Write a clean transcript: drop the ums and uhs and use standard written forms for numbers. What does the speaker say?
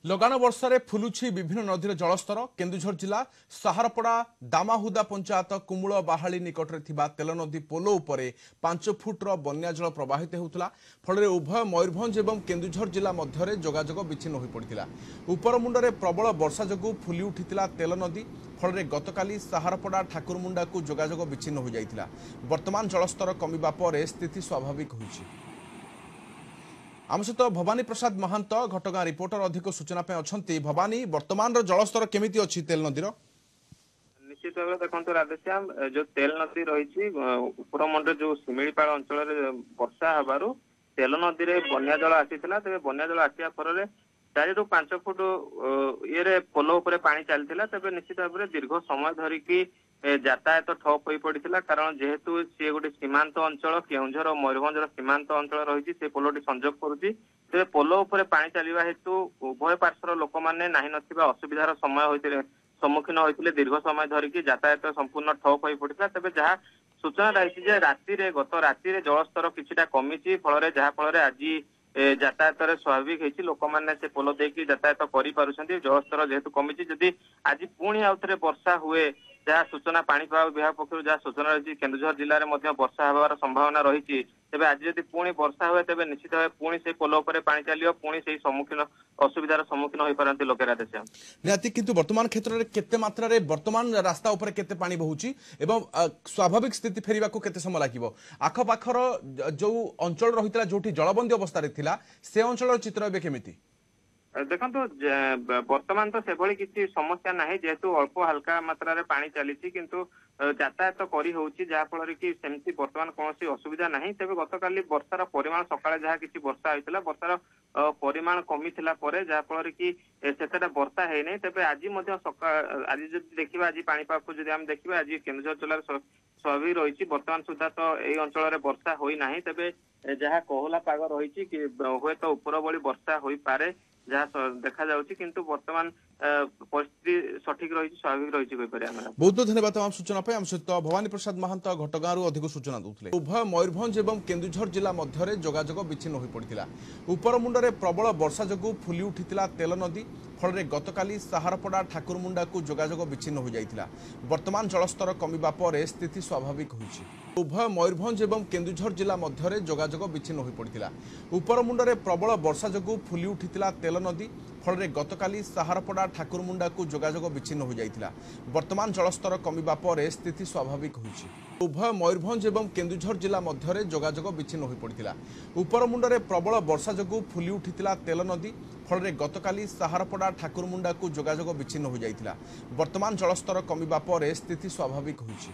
ଲଗାଣ ବର୍ଷାରେ ଫୁଲୁଛି ବିଭିନ୍ନ ନଦୀର ଜଳସ୍ତର। କେନ୍ଦୁଝର ଜିଲ୍ଲା ସାହାରପଡ଼ା ଦାମାହୁଦା ପଞ୍ଚାୟତ କୁମୁଳ ବାହାଳି ନିକଟରେ ଥିବା ତେଲ ନଦୀ ପୋଲ ଉପରେ 5 ଫୁଟର ବନ୍ୟା ଜଳ ପ୍ରବାହିତ ହେଉଥିଲା। ଫଳରେ ଉଭୟ ମୟୂରଭଞ୍ଜ ଏବଂ କେନ୍ଦୁଝର ଜିଲ୍ଲା ମଧ୍ୟରେ ଯୋଗାଯୋଗ ବିଚ୍ଛିନ୍ନ ହୋଇପଡ଼ିଥିଲା। ଉପରମୁଣ୍ଡରେ ପ୍ରବଳ ବର୍ଷା ଯୋଗୁଁ ଫୁଲି ଉଠିଥିଲା ତେଲ ନଦୀ। ଫଳରେ ଗତକାଲି ସାହାରପଡ଼ା ଠାକୁରମୁଣ୍ଡାକୁ ଯୋଗାଯୋଗ ବିଚ୍ଛିନ୍ନ ହୋଇଯାଇଥିଲା। ବର୍ତ୍ତମାନ ଜଳସ୍ତର କମିବା ପରେ ସ୍ଥିତି ସ୍ୱାଭାବିକ ହୋଇଛି। ଆମ ସହିତ ଭବାନୀ ପ୍ରସାଦ ମହାନ୍ତ, ଘଟଗାଁ ରିପୋର୍ଟର, ଅଧିକ ସୂଚନା ପାଇଁ ଅଛନ୍ତି। ଭବାନୀ, ବର୍ତ୍ତମାନର ଜଳସ୍ତର କେମିତି ଅଛି ତେଲ ନଦୀର? ନିଶ୍ଚିତ ଭାବରେ ଦେଖନ୍ତୁ ରାଧେଶ୍ୟାମ, ଯୋଉ ତେଲ ନଦୀ ରହିଛି ଉପରମୁଣ୍ଡରେ ଯୋଉ ଶିମିଳିପାଳ ଅଞ୍ଚଳରେ ବର୍ଷା ହେବାରୁ ତେଲ ନଦୀରେ ବନ୍ୟା ଜଳ ଆସିଥିଲା। ତେବେ ବନ୍ୟା ଜଳ ଆସିବା ଫଳରେ 4ରୁ 5 ଫୁଟ ଇଏରେ ପୋଲ ଉପରେ ପାଣି ଚାଲିଥିଲା। ତେବେ ନିଶ୍ଚିତ ଭାବରେ ଦୀର୍ଘ ସମୟ ଧରିକି ଯାତାୟାତ ଠପ୍ ହୋଇ ପଡିଥିଲା, କାରଣ ଯେହେତୁ ସିଏ ଗୋଟେ ସୀମାନ୍ତ ଅଞ୍ଚଳ, କେଉଁଝର ଓ ମୟୂରଭଞ୍ଜର ସୀମାନ୍ତ ଅଞ୍ଚଳ ରହିଛି, ସେ ପୋଲଟି ସଂଯୋଗ କରୁଛି। ତେବେ ପୋଲ ଉପରେ ପାଣି ଚାଲିବା ହେତୁ ଉଭୟ ପାର୍ଶ୍ୱର ଲୋକମାନେ ନାହିଁ ନଥିବା ଅସୁବିଧାର ସମୟ ହୋଇଥିଲେ ସମ୍ମୁଖୀନ ହୋଇଥିଲେ। ଦୀର୍ଘ ସମୟ ଧରିକି ଯାତାୟାତ ସମ୍ପୂର୍ଣ୍ଣ ଠପ୍ ହୋଇ ପଡିଥିଲା। ତେବେ ଯାହା ସୂଚନା ରହିଛି ଯେ ରାତିରେ, ଗତ ରାତିରେ ଜଳସ୍ତର କିଛିଟା କମିଛି, ଫଳରେ ଯାହା ଫଳରେ ଆଜି ଯାତାୟାତରେ ସ୍ୱାଭାବିକ ହେଇଛି। ଲୋକମାନେ ସେ ପୋଲ ଦେଇକି ଯାତାୟାତ କରିପାରୁଛନ୍ତି, ଜଳସ୍ତର ଯେହେତୁ କମିଛି। ଯଦି ଆଜି ପୁଣି ଆଉଥରେ ବର୍ଷା ହୁଏ, ଯାହା ସୂଚନା ପାଣିପାଗ ବିଭାଗ ପକ୍ଷରୁ ଯାହା ସୂଚନା ରହିଛି, କେନ୍ଦୁଝର ଜିଲ୍ଲାରେ ମଧ୍ୟ ବର୍ଷା ହେବାର ସମ୍ଭାବନା ରହିଛି। ତେବେ ଆଜି ଯଦି ପୁଣି ବର୍ଷା ହୁଏ, ତେବେ ନିଶ୍ଚିତ ଭାବେ ପୁଣି ସେଇ ପୋଲ ଉପରେ ପାଣି ଚାଲିବ, ପୁଣି ସେଇ ସମ୍ମୁଖୀନ ଅସୁବିଧାର ସମ୍ମୁଖୀନ ହୋଇପାରନ୍ତି ଲୋକେ। ରାଧେଶ୍ୟାମ। ନିହାତି, କିନ୍ତୁ ବର୍ତ୍ତମାନ କ୍ଷେତ୍ରରେ କେତେ ମାତ୍ରାରେ ବର୍ତ୍ତମାନ ରାସ୍ତା ଉପରେ କେତେ ପାଣି ବହୁଛି ଏବଂ ସ୍ୱାଭାବିକ ସ୍ଥିତି ଫେରିବାକୁ କେତେ ସମୟ ଲାଗିବ? ଆଖପାଖର ଯୋଉ ଅଞ୍ଚଳ ରହିଥିଲା, ଯୋଉଠି ଜଳବନ୍ଦୀ ଅବସ୍ଥାରେ ଥିଲା, ସେ ଅଞ୍ଚଳର ଚିତ୍ର ଏବେ କେମିତି? ଦେଖନ୍ତୁ, ବର୍ତ୍ତମାନ ତ ସେଭଳି କିଛି ସମସ୍ୟା ନାହିଁ, ଯେହେତୁ ଅଳ୍ପ ହାଲକା ମାତ୍ରାରେ ପାଣି ଚାଲିଛି, କିନ୍ତୁ ଯାତାୟାତ କରି ହଉଛି, ଯାହା ଫଳରେ କି ସେମିତି ବର୍ତ୍ତମାନ କୌଣସି ଅସୁବିଧା ନାହିଁ। ତେବେ ଗତକାଲି ବର୍ଷାର ପରିମାଣ, ସକାଳେ ଯାହା କିଛି ବର୍ଷା ହୋଇଥିଲା, ବର୍ଷାର ପରିମାଣ କମିଥିଲା ପରେ, ଯାହା ଫଳରେ କି ସେତେଟା ବର୍ଷା ହେଇନାହିଁ। ତେବେ ଆଜି ମଧ୍ୟ ସକାଳ, ଆଜି ଯଦି ଦେଖିବା, ଆଜି ପାଣିପାଗକୁ ଯଦି ଆମେ ଦେଖିବା, ଆଜି କେନ୍ଦୁଝର ଜିଲ୍ଲାରେ ସ୍ୱାଭାବିକ ରହିଛି। ବର୍ତ୍ତମାନ ସୁଦ୍ଧା ତ ଏଇ ଅଞ୍ଚଳରେ ବର୍ଷା ହୋଇନାହିଁ। ତେବେ ଯାହା କୋହଲା ପାଗ ରହିଛି କି ହୁଏତ ଉପର ଭଳି ବର୍ଷା ହୋଇପାରେ, ଯାହା ଦେଖାଯାଉଛି, କିନ୍ତୁ ବର୍ତ୍ତମାନ ପରିସ୍ଥିତି ସଠିକ ରହିଛି, ସ୍ୱାଭାବିକ ରହିଛି କହିପାରିବା ଆମେ। ବହୁତ ବହୁତ ଧନ୍ୟବାଦ ତମାମ ସୂଚନା ପାଇଁ। ଆମ ସହିତ ଭବାନୀ ପ୍ରସାଦ ମହାନ୍ତ ଘଟଗାଁରୁ ଅଧିକ ସୂଚନା ଦେଉଥିଲେ। ଉଭୟ ମୟୂରଭଞ୍ଜ ଏବଂ କେନ୍ଦୁଝର ଜିଲ୍ଲା ମଧ୍ୟରେ ଯୋଗାଯୋଗ ବିଚ୍ଛିନ୍ନ ହୋଇପଡ଼ିଥିଲା। ଉପରମୁଣ୍ଡରେ ପ୍ରବଳ ବର୍ଷା ଯୋଗୁଁ ଫୁଲି ଉଠିଥିଲା ତେଲ ନଦୀ। ଫଳରେ ଗତକାଲି ସାହାରପଡ଼ା ଠାକୁରମୁଣ୍ଡାକୁ ଯୋଗାଯୋଗ ବିଚ୍ଛିନ୍ନ ହୋଇଯାଇଥିଲା। ବର୍ତ୍ତମାନ ଜଳସ୍ତର କମିବା ପରେ ସ୍ଥିତି ସ୍ୱାଭାବିକ ହୋଇଛି। ଉଭୟ ମୟୂରଭଞ୍ଜ ଏବଂ କେନ୍ଦୁଝର ଜିଲ୍ଲା ମଧ୍ୟରେ ଯୋଗାଯୋଗ ବିଚ୍ଛିନ୍ନ ହୋଇପଡ଼ିଥିଲା। ଉପରମୁଣ୍ଡରେ ପ୍ରବଳ ବର୍ଷା ଯୋଗୁଁ ଫୁଲି ଉଠିଥିଲା ତେଲ ନଦୀ। ଫଳରେ ଗତକାଲି ସାହାରପଡ଼ା ଠାକୁରମୁଣ୍ଡାକୁ ଯୋଗାଯୋଗ ବିଚ୍ଛିନ୍ନ ହୋଇଯାଇଥିଲା। ବର୍ତ୍ତମାନ ଜଳସ୍ତର କମିବା ପରେ ସ୍ଥିତି ସ୍ୱାଭାବିକ ହୋଇଛି। ଉଭୟ ମୟୂରଭଞ୍ଜ ଏବଂ କେନ୍ଦୁଝର ଜିଲ୍ଲା ମଧ୍ୟରେ ଯୋଗାଯୋଗ ବିଚ୍ଛିନ୍ନ ହୋଇପଡ଼ିଥିଲା। ଉପରମୁଣ୍ଡରେ ପ୍ରବଳ ବର୍ଷା ଯୋଗୁଁ ଫୁଲି ଉଠିଥିଲା ତେଲ ନଦୀ। ଫଳରେ ଗତକାଲି ସାହାରପଡ଼ା ଠାକୁରମୁଣ୍ଡାକୁ ଯୋଗାଯୋଗ ବିଚ୍ଛିନ୍ନ ହୋଇଯାଇଥିଲା। ବର୍ତ୍ତମାନ ଜଳସ୍ତର କମିବା ପରେ ସ୍ଥିତି ସ୍ୱାଭାବିକ ହୋଇଛି।